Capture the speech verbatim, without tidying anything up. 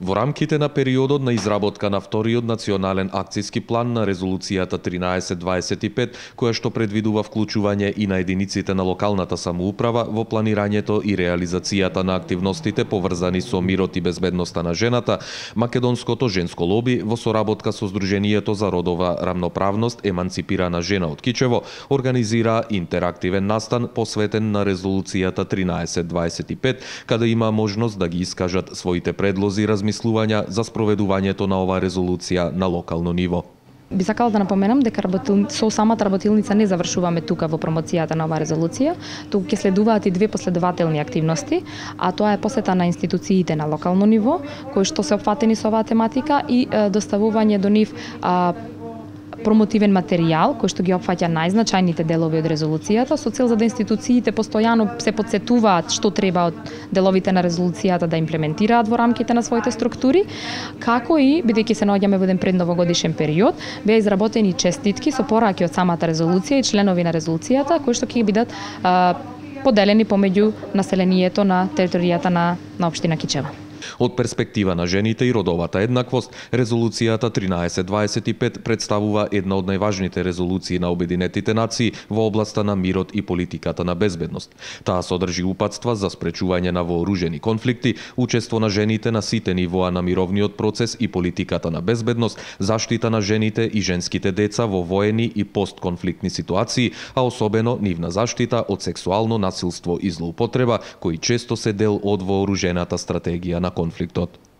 Во рамките на периодот на изработка на вториот национален акциски план на резолуцијата тринаесет дваесет и пет, која што предвидува вклучување и на единиците на локалната самоуправа во планирањето и реализацијата на активностите поврзани со мирот и безбедноста на жената, македонското женско лоби во соработка со Сдруженијето за родова рамноправност Еманципирана жена од Кичево организира интерактивен настан посветен на резолуцијата тринаесет дваесет и пет, каде има можност да ги искажат своите предлози, размислувања за спроведувањето на оваа резолуција на локално ниво. Би сакала да напоменам дека работил... со самата работилница не завршуваме тука во промоцијата на оваа резолуција, туку ќе следуваат и две последователни активности, а тоа е посета на институциите на локално ниво, кои што се опфатени со оваа тематика и е, доставување до нив а, промотивен материјал кој што ги опфаќа најзначајните делови од резолуцијата со цел за да институциите постојано се потсетуваат што треба од деловите на резолуцијата да имплементираат во рамките на своите структури, како и бидејќи се наоѓаме во еден предновогодишен период, беа изработени честитки со пораки од самата резолуција и членови на резолуцијата кои што ќе бидат а, поделени помеѓу населението на територијата на, на општина Кичево. Од перспектива на жените и родовата еднаквост, резолуцијата тринаесет дваесет и пет представува една од најважните резолуции на Обединетите нации во областа на мирот и политиката на безбедност. Таа содржи упатства за спречување на вооружени конфликти, учество на жените на сите нивоа на мировниот процес и политиката на безбедност, заштита на жените и женските деца во воени и постконфликтни ситуации, а особено нивна заштита од сексуално насилство и злоупотреба, кои често се дел од вооружената стратегија на конфликтот.